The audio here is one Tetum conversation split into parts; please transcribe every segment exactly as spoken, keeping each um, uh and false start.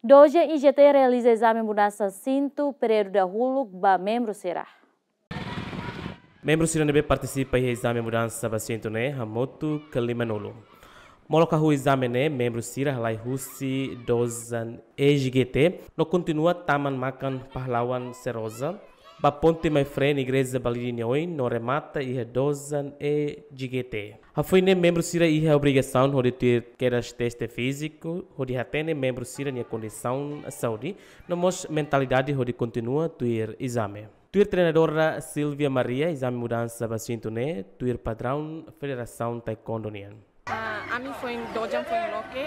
Dojan I G T realiza ezame mudansa asentu períodu dahuluk ba membru sira. Membru sira ne'ebé partisipa iha ezame mudansa ba asentu ne'e hamutuk ke limanulu. Molok hahú ezame ne'e, membru sira halai husi Dojan E G T no kontinua tama Makan Pahlawan Seroja, ba ponte Maifreen Igreja Balide nia oin no remata iha Dojan E G T. Hafoin ne'e membru sira iha obrigasaun hodi tuir kedas teste fíziku, hodi hatene membru sira-nia kondisaun saúde, no mós mentalidade hodi kontinua tuir ezame. Tuir treinadora Silvia Maria, ezame mudansa ba asentu ne'e tuir padraun Federasaun Taekwondo nian. Ah, ami foin dojan foin loke,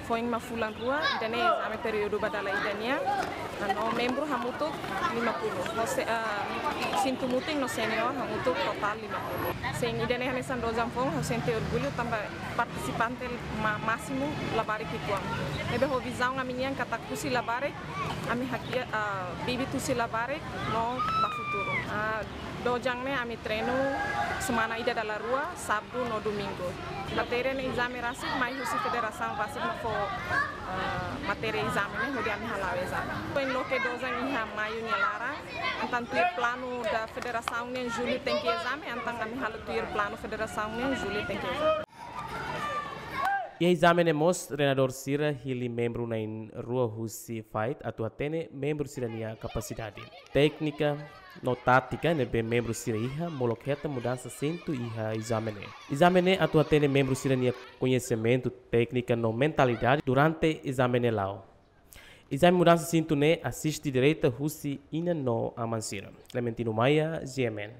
foin mak fulan rua, ida-ne'e ezame períodu ba dala ida nian. Ah, no membru hamutuk limanulu. Ho se-, ah, asentu mutin no senior hamutuk totál limanulu. Sin, ida-ne'e hanesan dojan foun, ha'u sente orgullu tanba partisipante ma-, másimu labarik ki'ikoan. Ne'ebé ho vizaun ami-nian katak husi labarik, ami hakiak, ah, bibit husi labarik no ba futuru. Ah, dojan ne'e ami treinu semana ida dala rua, sábadu no domingu. Matéria ne'e ezame rasik, mai husi federasaun rasik mak fó, ah, matéria ezame ne'e hodi ami hala'o ezame. Foin loke dojan iha Maiu nia laran, entaun tuir planu da federasaun ne'e Jullu tenke ezame, entaun ami halo tuir planu federasaun ne'e Jullu tenke ezame. Iha ezame ne'e mós treinadór sira hili membru na'in-rua husi FIGHT atu hatene membru sira-nia kapasidade, téknika no tátika ne'ebé membru sira iha, molok hetan mudansa asentu iha ezame ne'e. Ezame ne'e atu hatene membru sira-nia koñesimentu, téknika no mentalidade durante ezame ne'e la'o. Ezame mudansa asentu ne'e asiste direta husi inan no aman sira. Clementino Maia, G M N.